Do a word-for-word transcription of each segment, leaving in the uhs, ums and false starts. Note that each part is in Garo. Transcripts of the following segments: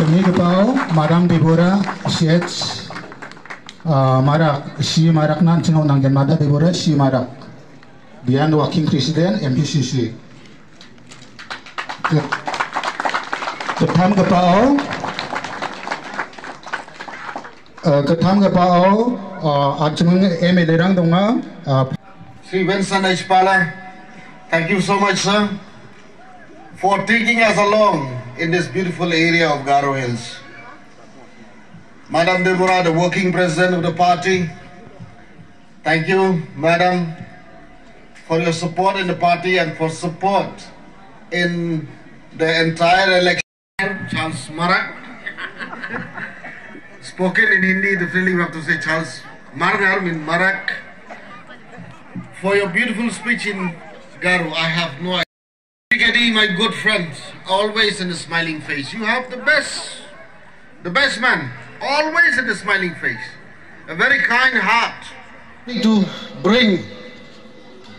Kemigipao Madam Deborah C H, ah, Marak, C Marak nan chingau nanggen Madam Deborah C Marak. Bian Working President M P C C. Ke-, kethamgipao, eh, kethamgipao, eh, an·ching M L A-rang donga, eh. Shri Vincent H Pala, thank you so much, sir, for taking us along in this beautiful area of Garo Hills. Madam Deborah, the working president of the party, thank you, madam, for your support in the party and for support in the entire election. Charles Marak. Spoken in Hindi, definitely we have to say Charles Margar, mean Marak. For your beautiful speech in Garo, I have no idea. Brigadier, my good friend, always in a smiling face. You have the best, the best man, always in a smiling face. A very kind heart. To bring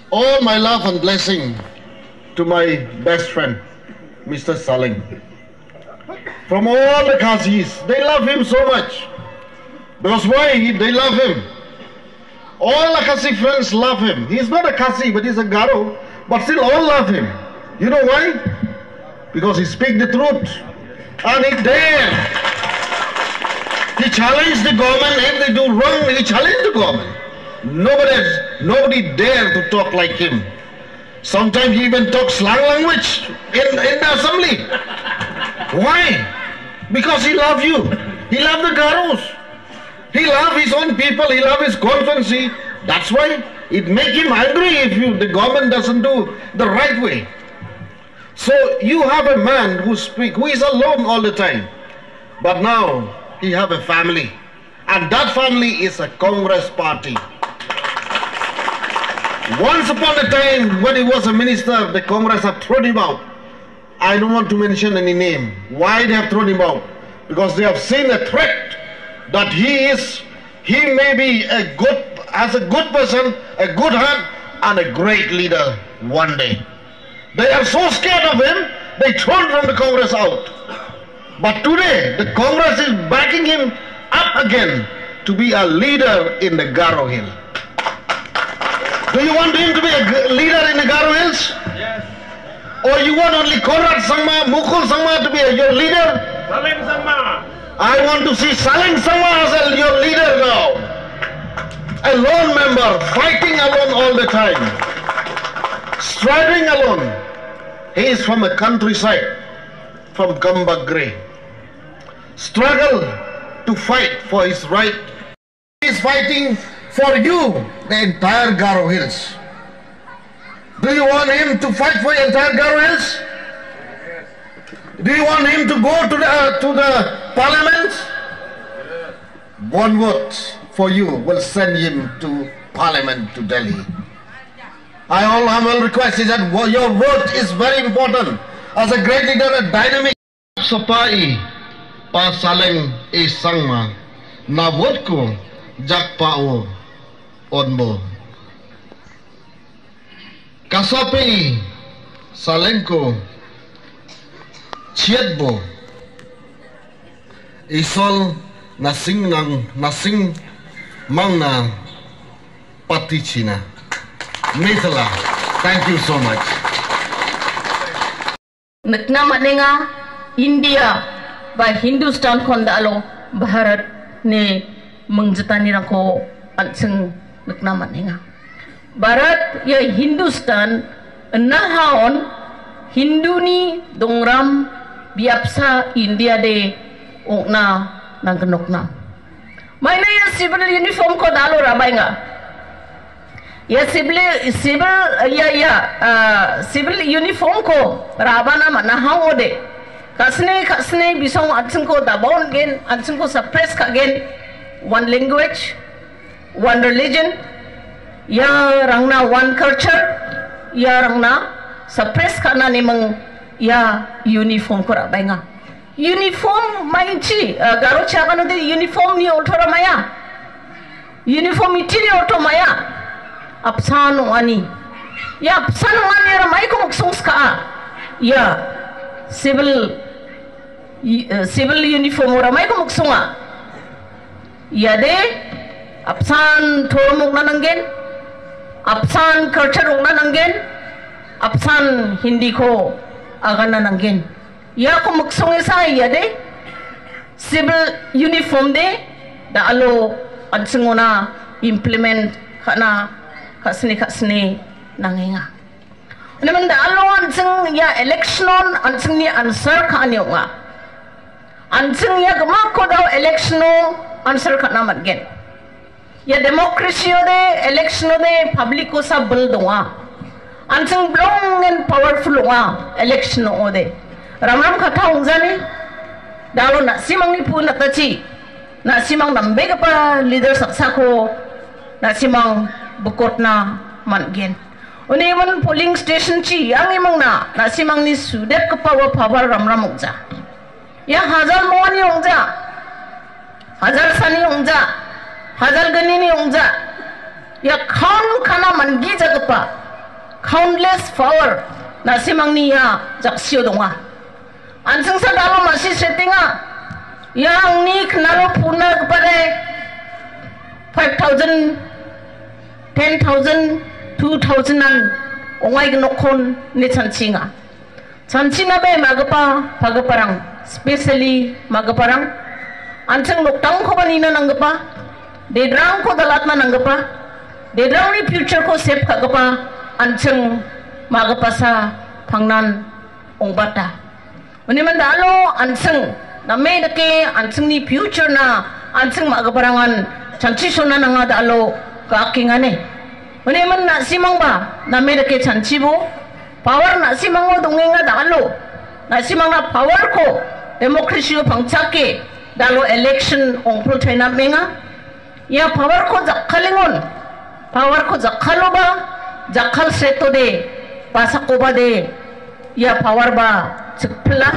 all my love and blessing to my best friend, Mister Saleng. From all the Khazis, they love him so much. Because why? They love him. All the Khasi friends love him. He's not a Khasi, but he's a Garo. But still all love him. You know why? Because he speak the truth. And he dare. He challenged the government. If they do wrong, he challenged the government. Nobody, nobody dare to talk like him. Sometimes he even talks slang language in, in the assembly. Why? Because he love you. He love the Garos. He love his own people. He love his constituency. That's why it make him angry if you, the government doesn't do the right way. So you have a man who speak, who is alone all the time. But now he have a family. And that family is a Congress party. Once upon a time, when he was a minister, the Congress have thrown him out. I don't want to mention any name. Why they have thrown him out? Because they have seen a threat that he is, he may be a good, as a good person, a good heart, and a great leader one day. They are so scared of him, they thrown from the Congress out. But today, the Congress is backing him up again to be a leader in the Garo Hill. Do you want him to be a g-, leader in the Garo Hills? Yes. Or you want only Conrad Sangma, Mukul Sangma to be a, your leader? Saleng Sangma. I want to see Saleng Sangma as a, your leader now. A lone member, fighting alone all the time. Striving alone. He is from a countryside, from Gambagre. Struggle to fight for his right. He is fighting for you, the entire Garo Hills. Do you want him to fight for the entire Garo Hills? Do you want him to go to the, to the parliament? One vote for you will send him to parliament to Delhi. I all humble request is that wo-, your vote is very important. As a great leader, a dynamic. Sapai pa Saleng A Sangma, na vote ko jakpao onbo. Kasape Saleng ko chiatbo. Isol nasing nang, nasing mangna pati china. Mitala. Thank you so much. Nikna man·enga, India ba Hindustan-ko da·alo Bharatni mingjitanirangko an·ching nikna man·enga. Bharat ia Hindustan inahaon Hinduni dongram biapsa India de ong·na nanggnokna. Maina ia civil uniform-ko da·alo ra·baenga. Ia civil, civil, ia, ia, ah, civil uniform-ko ra·bana man·aha ong·ode. Ka·sne, ka·sne bisong an·chingko dabon gen, an·chingko suppress ka·gen. One language, one religion, iarangna one culture, iarangna suppress ka·na neming ia uniform-ko ra·baenga. Uniform maingchi, eh, Garo chaganode uniform-ni orto-ra maia. Uniformity-ni orto maia. Apsan ong·ani. Ia apsan ong·aniara maiko miksongska·a? Ia civil, i-, eh, civil uniform-ora maiko miksonga? Iade apsan toromokna nanggen, apsan culture ong·na nanggen, apsan Hindiko agana nanggen. Iako miksongesa iade civil uniform de da·alo an·chingona implement ka·na ka·sini ka·sini nangenga. Namen da·alo an·ching ia election-on an·chingni answer ka·ani ong·a. An·ching ia gimikko dao election-o answer ka·na man·gen. Ia democracy-ode, election-ode public-kosa bil donga. An·ching bilongen powerful ong·a election ong·ode. Ramram katta ong·jani, da·alo na·simangni pu natachi, na·simang nambegipa leader saksako na·simang bikotna man·gen. Uni iman polling station-chi angimangna na·simangni sudepgipa ua power ramram ong·ja. Ia hajal mongani ong·ja, hajal sani ong·ja, hajal gnini ong·ja. Ia count ka·na man·gijagipa countless power na·simangni ia jaksio donga. An·chingsa da·alo ma·si setenga. Ia angni knalo puna gipade five thousand, ten thousand, two thousand-an ong·aignokon ine chanchinga. Chanchina be ma·gipa, pagiparang, specially ma·giparang, an·ching nokdangkoba nina nanggipa, dedrangko dalatna nanggipa, dedrangni future-ko save ka·gipa, an·ching ma·gipasa pangnan ong·bata. Uniman da·alo an·ching name dake an·chingni future-na an·ching ma·giparangan chanchishona nanga da·alo ga·akengane. Uniman na·simangba name dake chanchibo, power na·simango dongenga da·alo. Na·simangna power-ko democracy-o pangchake da·alo election ongpilchaina amenga. Ia power-ko jakkalengon, power-ko jakkaloba, jakkal setode, basakobade, ia power-ba chikpila.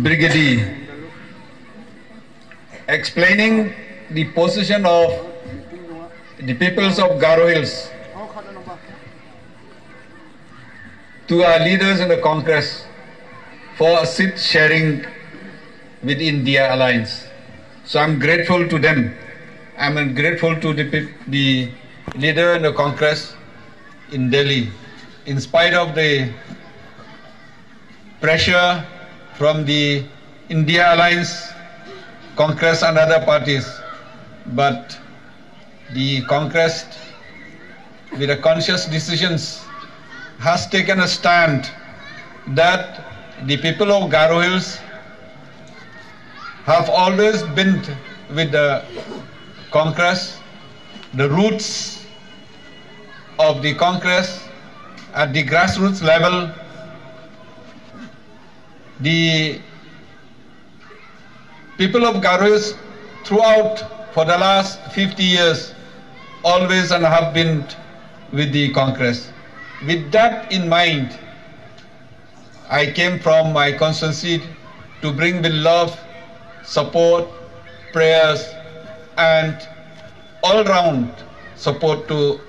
Brigade, explaining the position of the peoples of Garo Hills to our leaders in the Congress for a seat sharing with India Alliance. So I'm grateful to them. I'm grateful to the peop-, the leader in the Congress in Delhi. In spite of the pressure from the India Alliance, Congress and other parties, but the Congress, with a conscious decisions, has taken a stand that the people of Garo Hills have always been with the Congress. The roots of the Congress at the grassroots level, the people of Garo Hills throughout for the last fifty years always and have been with the Congress. With that in mind, I came from my constituency to bring with love, support, prayers, and all-round support to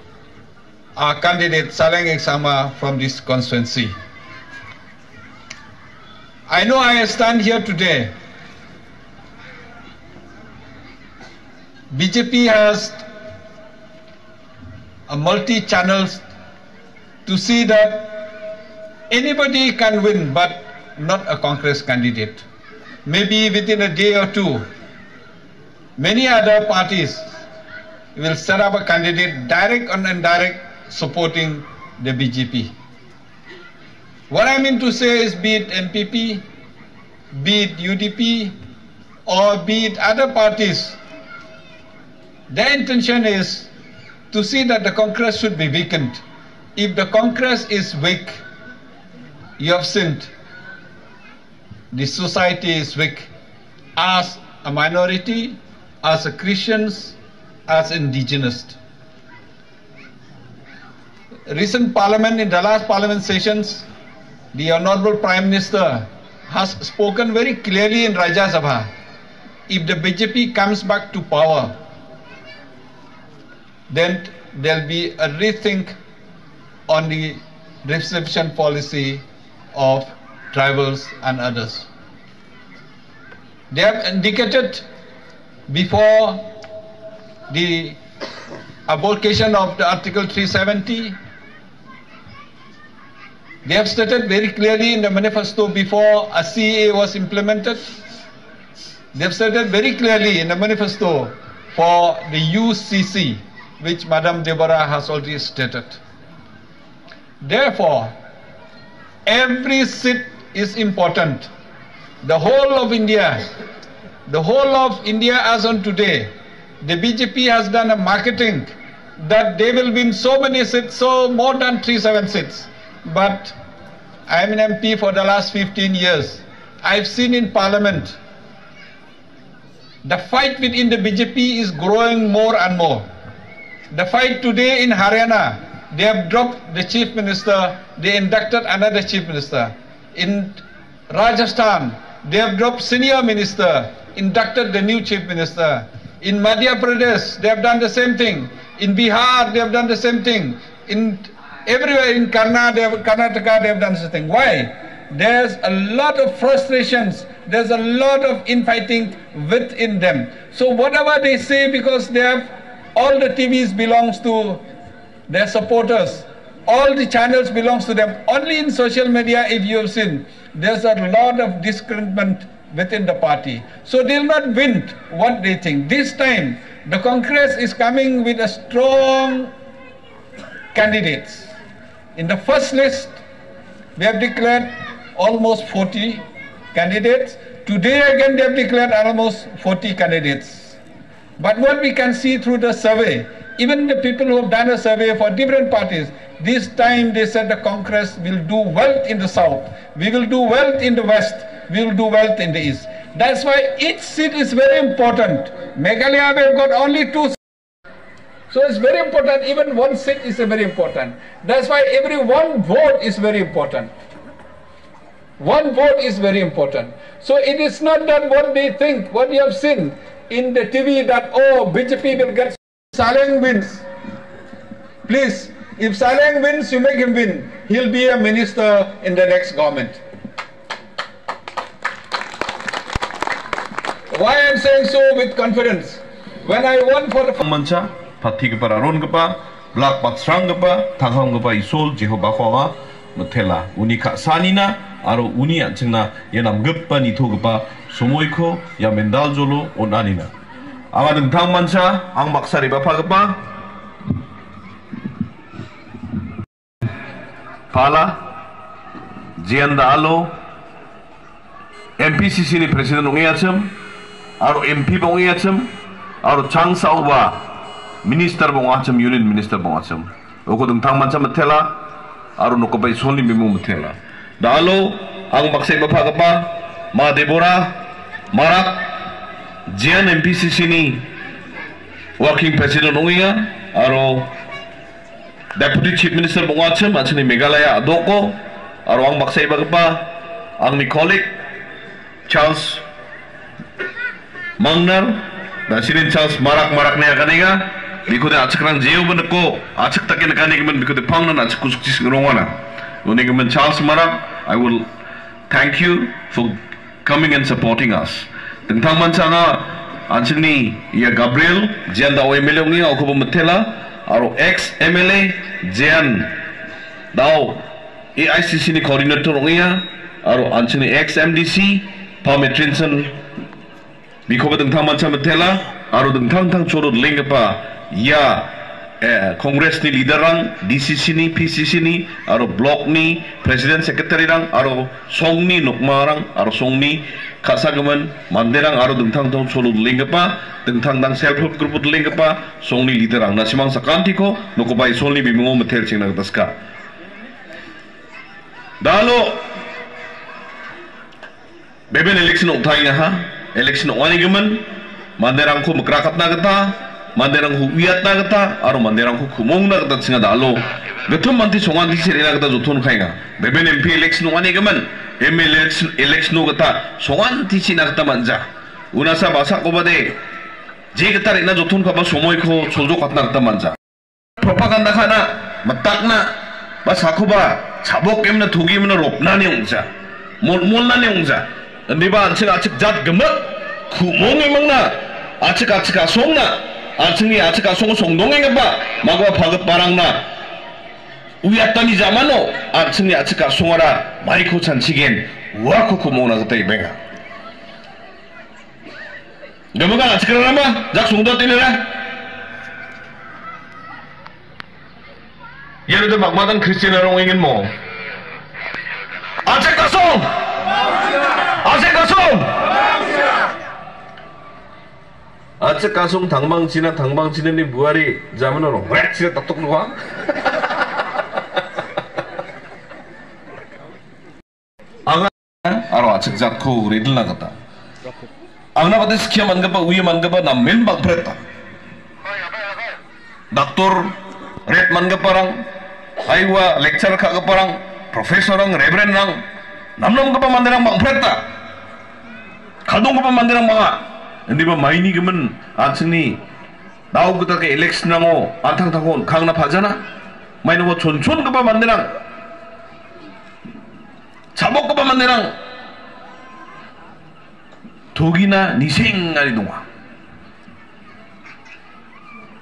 our candidate Saleng Eksauma from this constituency. I know I stand here today. B J P has a multi-channels to see that anybody can win, but not a Congress candidate. Maybe within a day or two, many other parties will set up a candidate, direct and indirect, supporting the B J P. What I mean to say is, be it N P P, be it U D P or be it other parties, their intention is to see that the Congress should be weakened. If the Congress is weak, you have seen the society is weak. As a minority, as a Christians, as indigenous. Recent parliament, in the last parliament sessions, the Honorable Prime Minister has spoken very clearly in Rajya Sabha. If the B J P comes back to power, then there'll be a rethink on the reservation policy of tribals and others. They have indicated before the abrogation of the Article three seventy, they have stated very clearly in the manifesto before a C A A was implemented. They have stated very clearly in the manifesto for the U C C, which Madam Deborah has already stated. Therefore, every seat is important. The whole of India, the whole of India as on today, the B J P has done a marketing that they will win so many seats, so more than three seven seats. But I am an M P for the last fifteen years. I've seen in parliament, the fight within the B J P is growing more and more. The fight today in Haryana, they have dropped the chief minister, they inducted another chief minister. In Rajasthan, they have dropped senior minister, inducted the new chief minister. In Madhya Pradesh, they have done the same thing. In Bihar, they have done the same thing. In everywhere in Karna-, they have, Karnataka, they have done the same thing. Why? There's a lot of frustrations. There's a lot of infighting within them. So whatever they say, because they have, all the T Vs belongs to their supporters, all the channels belongs to them. Only in social media, if you have seen, there's a lot of disagreement within the party. So they'll not win what they think. This time, the Congress is coming with a strong candidates. In the first list, we have declared almost forty candidates. Today again, they have declared almost forty candidates. But what we can see through the survey, even the people who have done a survey for different parties, this time they said the Congress will do well in the south, we will do well in the west, we will do well in the east. That's why each seat is very important. Meghalaya, we have got only two. So it's very important. Even one seat is very important. That's why every one vote is very important. One vote is very important. So it is not that what they think, what you have seen in the T V, that, oh, B J P will get. Saleng wins. Please, if Saleng wins, you make him win. He'll be a minister in the next government. Why I'm saying so with confidence? When I won for the mancha, patigipa, rarongipa, blak batsranggipa, tanghamgipa Isol Jehovako anga mitela. Uni ka·sanina aro uni an·chingna ia namgipa nitogipa somoiko ia mendaljolo on·anina. Anga dingtang mancha, ang baksa re·bapagipa. Pala, jean da·alo, M P C C ni president ong·eachim, aro M P ba ong·eachim, aro changsaoba minister ba ong·achim, union minister ba ong·achim. Uko dingtang mancha mitela, aro nokgipa Isolni bimung mitela. Da·alo, ang baksa re·bapagipa, Ma Deborah Marak, jean M P C C ni working president ong·enga, aro Deputy Chief Minister ba ong·achim, an·chingni Meghalaya a·doko, aro ang baksa re·bagipa, angni colleague, Charles Mangnar, na·sinin Charles Marak, Marak ine aganenga, bikode a·chikrang jeoba niko, a·chik dake nikanigimin, bikode pangnan a·chik kusukchi sing·rongana. Unigimin Charles Marak, I will thank you for coming and supporting us. Dingtang mancha anga, an·chingni ia Gabriel, jean da·o M L A ong·enga, ukoba mitela, aro ex M L A, jean da·o A I C C ni coordinator ong·enga, aro an·chingni ex M D C, Pa Metrinson, bikoba dingtang mancha mitela, aro dingtang dingtang cholo denggipa ia eh, Congress-ni leader-rang, D C C-ni, P C C-ni, aro block-ni president secretary-rang, aro songni nokmarang, aro songni ka·sagimin manderang, aro dingtang dingtang solo dolenggipa, dingtang dingtang self help group-o dolenggipa songni leader-rangna simang sakantiko nokoba Isolni bimingo mitelchengna gita sika. Dalo beben election ong·taengaha, election ong·anigimin, manderangko mikrakatna gita, manderangko uiatna gita, aro manderangko kumongna gita chinga dalo gittam manti songanti chi·rena gita joton kaenga. Beben M P election ong·anigimin, M L A election, election-o gita songanti chi·na gita man·ja. Unasa basakobade je gita re·na joton kaba somoiko choljokatna gita man·ja. Propaganda ka·na, mitakna, ba sakoba chabok emna, togi emna ropnani ong·ja. Molmolnani ong·ja. Indiba an·ching a·chik jat gimik, ku·mong emangna, a·chik a·chik asongna, an·chingni a·chik asongo songdongenggipa, magoa pagitbarangna uiatani jamano, an·chingni a·chik asongara maiko chanchigen, uako ku·mongna gita ibenga. Gimikan a·chikrarangba, jak songdoatenira. Iano de bakmadan Kristianrang ong·engenmo. A·chik asong! A·chik asong! A·chik asong tangbangchina, tangbangchinani buari jamano rongret sina tatok doa. Anga aro a·chik jatko redilna gita. Angna bate skia man·gipa, uia man·gipa namen bang·preta. Daktor, ret man·giparang, aiwa lecturer ka·giparang, professorrang, reverendrang, namnamgipa manderang bang·preta. Kadonggipa manderang bang·a. Indiba maini gimin an·chingni dao gita ke election-rango an·tangtangko on·kangna pajana. Mainongo chonchongipa manderang, chabokgipa manderang togina nisengari donga.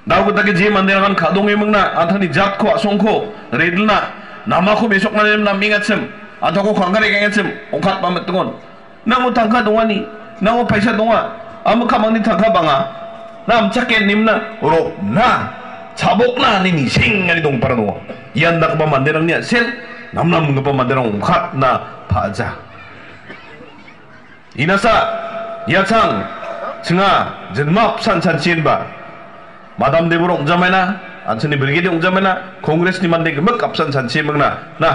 Dao gita ke je manderangan ka·donge mingna, an·tangni jatko, a·songko redilna, namako mesokna nem namengachim, an·tangko kangkare kengachim, ong·katba mitingon. Nango tangka dongani, nango paisa donga, amo kamangni tangka banga, na amchake nimna, rokna, chabokna, ani nisengani dongpara donga. Ian dakgipa manderangni a·sel, namnamgipa manderang ong·katna pa·aja. Inasa, ia chang, chinga, jinma apsan chanchienba. Madam Debor ong·jamaina, an·chingni brigade ong·jamaina, Congress-ni mande gimik apsan chanchiemingna, na,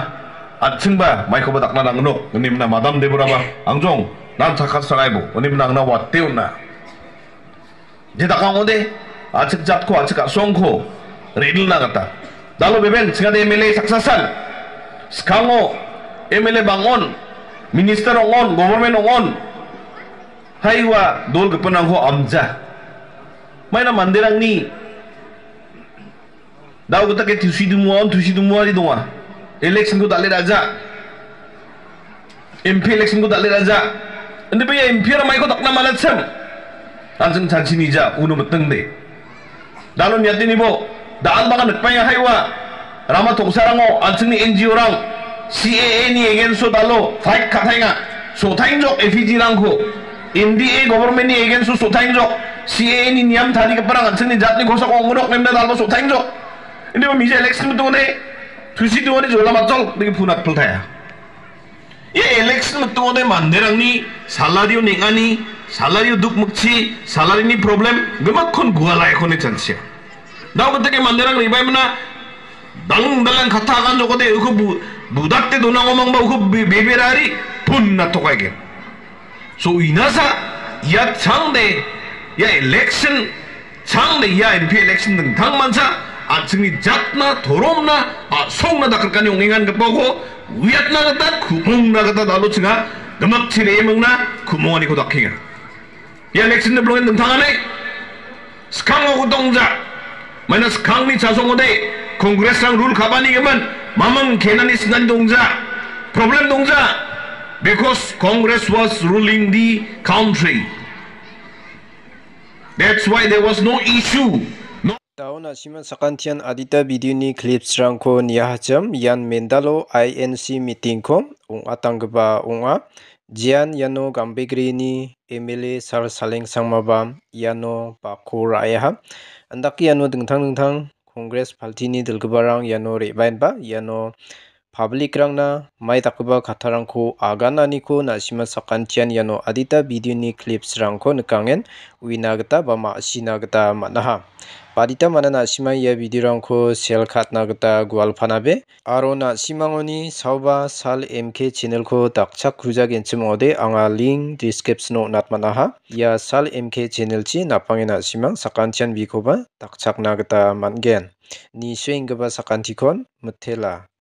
an·chingba maikoba dakna nangnok, ine mina Madam Deboraba, angjong, nan chakat sangaibo, ine mina angna wate on·a. Je dakang ode, a·chik jatko, a·chik a·songko redilna gita. Dalo beben, chingade M L A saksasan. Skango M L A bang·on, minister ong·on, government ong·on. Haiwa dol gipinrangko amja. Maina manderangni dao gita ke tusi dumuaon, tusi dumuari donga. Election-ko dal·e ra·ja. M P election-ko dal·e ra·ja. Inde bia M P-ara maiko dakna manachim. An·ching chanchi nija, uno mitingde. Dalo niatenibo, da·al bang·a nikbaenga haiwa. Rama tongsarango an·chingni N G O-rang C A A-ni against-o dalo fight ka·taenga. So·taengjok F I G-rangko. N D A government-ni against-o so·taengjok. C A A-ni niam tarigiparang an·chingni jatni kosako ong·gnok nemna dalba so·taengjok. Indiba mija election mitongode, tusi dongani jola matjol, digi punat piltaya. Ia election mitongode manderangni salary-o neng·ani, salary-o dukmikchi, salary-ni problem, gimikkon gualaiko ine chanchia. Dao giteke manderang ribaimina, dang dalang kata agan jokode, uko bu-, budakte donangomangba, uko be-, beberari, pun na tokaigen. So inasa, ia changde, ia election, changde ia M P election dingtang mancha, an·chingni jatna, toromna, a·songna dakrikani ong·engangipako uiatna gita, ku·mongna gita dalo chinga, gimikchi re·emingna, ku·monganiko dakenga. Ia election de bilongen dingtangani, skango gotongja, maina skangni chasongode, Congress-rang rule ka·bani gimin, maming kenani sinani dongja, problem dongja, because Congress was ruling the country. That's why there was no issue. No. Daun asiman sakantian adita video-ni clips-rangko niahachim, ian mendalo I N C meeting-ko ong·atanggipa ong·a. Jean iano Gambegrini M L A Sal Saleng Sangmaba iano bako ra·aha. Andake iano dingtang dingtang Congress paltini dilgiparang iano re·baenba iano public-rangna mai dakgipa kattarangko agananiko na·sima sakantian iano adita video-ni clips-rangko nikangen uina gita ba ma·sina gita man·aha. Badita mana na·sima ia video-rangko sel katna gita gualpanabe. Aro na·simangoni saoba Sal M K channel-ko dakchakkujagenchim ong·ode anga link description-o on·atman·aha. Ia Sal M K channel-chi napange na·simang sakantian bikoba dakchakna gita man·gen. Nisoenggipa sakantikon mitela.